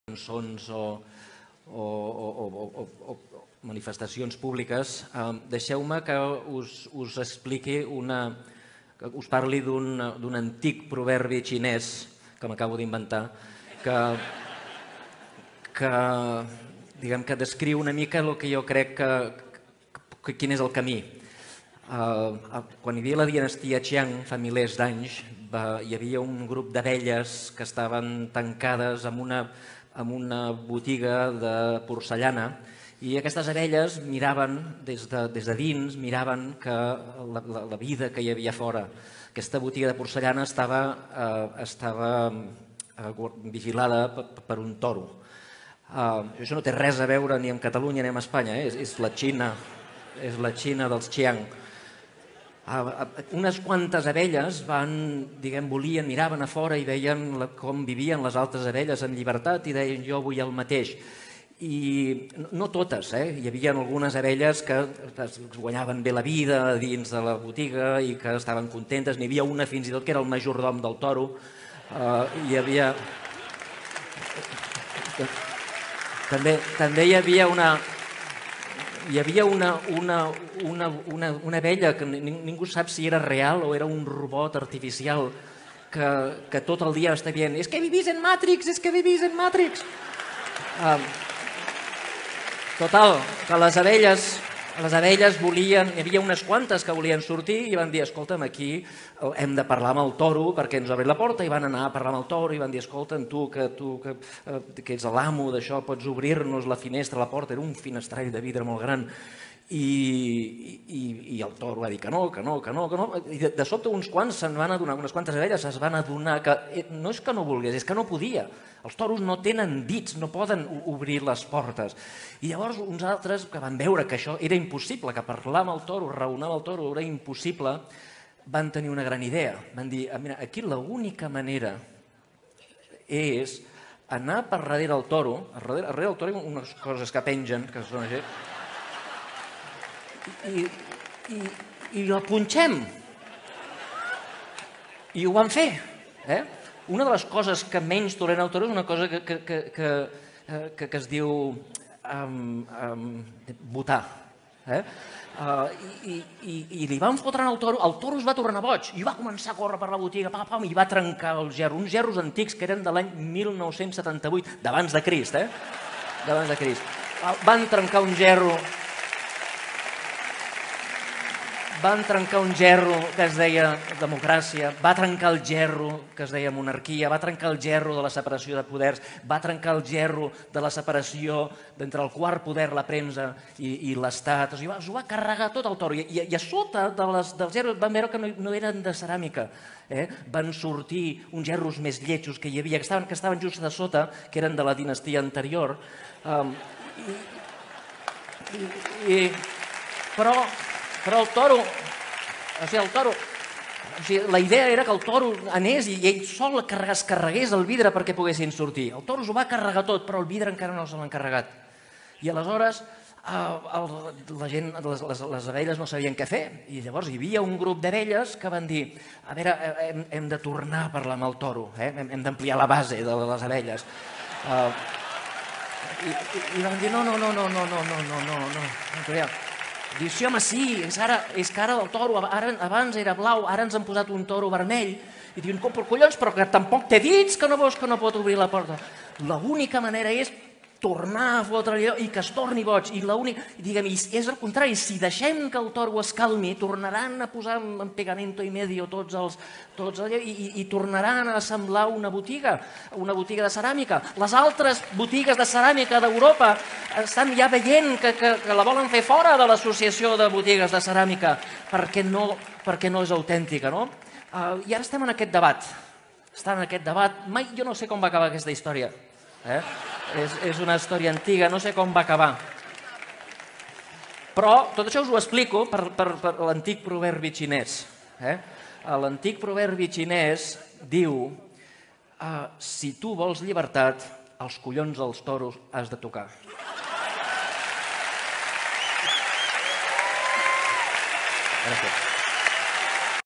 cançons o manifestacions públiques, deixeu-me que us expliqui que us parli d'un antic proverbi xinès que m'acabo d'inventar, que descriu una mica el que jo crec quin és el camí. Quan hi havia la dinastia Qiang, fa milers d'anys, hi havia un grup d'abelles que estaven tancades en una botiga de porcellana, i aquestes abelles miraven des de dins, miraven la vida que hi havia fora. Aquesta botiga de porcellana estava vigilada per un toro. Això no té res a veure ni amb Catalunya ni amb Espanya, és la Xina dels Qiang. Unes quantes abelles miraven a fora i veien com vivien les altres abelles en llibertat i deien jo vull el mateix. I no totes, hi havia algunes abelles que guanyaven bé la vida dins de la botiga i que estaven contentes, n'hi havia una fins i tot que era el majordom del toro, hi havia... També hi havia una abella que ningú sap si era real o era un robot artificial que tot el dia està dient «És que vivís en Matrix, és que vivís en Matrix». Total, que les abelles volien, hi havia unes quantes que volien sortir i van dir escolta'm, aquí hem de parlar amb el toro perquè ens obri la porta, i van anar a parlar amb el toro i van dir escolta'm, tu que ets l'amo d'això, pots obrir-nos la finestra, la porta, era un finestrall de vidre molt gran, i el toro va dir que no, i de sobte uns quants unes quantes abelles es van adonar que no és que no volgués, és que no podia. Els toros no tenen dits, no poden obrir les portes. I llavors uns altres que van veure que això era impossible, que parlar amb el toro, raonar amb el toro era impossible, van tenir una gran idea. Van dir, mira, aquí l'única manera és anar per darrere del toro, darrere del toro hi ha unes coses que pengen, que són així, i la punxem. I ho van fer. Una de les coses que menys tolera el toro és una cosa que es diu botar. I li van fotre al toro, el toro es va tornar boig i va començar a córrer per la botiga i va trencar el gerro, uns gerros antics que eren de l'any 1978, d'abans de Crist. Van trencar un gerro que es deia democràcia, va trencar el gerro que es deia monarquia, va trencar el gerro de la separació de poders, va trencar el gerro de la separació entre el quart poder, la premsa, i l'Estat. Es ho va carregar tot el toro. I a sota dels gerros van veure que no eren de ceràmica. Van sortir uns gerros més lletjos que hi havia, que estaven just a sota, que eren de la dinastia anterior. Però el toro, la idea era que el toro anés i ell sol es carregués el vidre perquè poguessin sortir. El toro s'ho va carregar tot, però el vidre encara no se l'han carregat. I aleshores la gent, les abelles no sabien què fer, i llavors hi havia un grup d'abelles que van dir a veure, hem de tornar a parlar amb el toro, hem d'ampliar la base de les abelles. I van dir no. Diu, sí, home, sí, és que ara el toro, abans era blau, ara ens han posat un toro vermell. I diuen, però collons, però que tampoc té dits, que no veus que no pot obrir la porta. L'única manera és tornar a fotre allò i que es torni boig. I és al contrari, si deixem que el toro es calmi, tornaran a posar en pegamento i medio tots allò i tornaran a semblar una botiga de ceràmica. Les altres botigues de ceràmica d'Europa estan ja veient que la volen fer fora de l'associació de botigues de ceràmica perquè no és autèntica, no? I ara estem en aquest debat. Mai jo no sé com va acabar aquesta història. És una història antiga, no sé com va acabar. Però tot això us ho explico per l'antic proverbi xinès. L'antic proverbi xinès diu si tu vols llibertat, els collons dels toros has de tocar. Gràcies.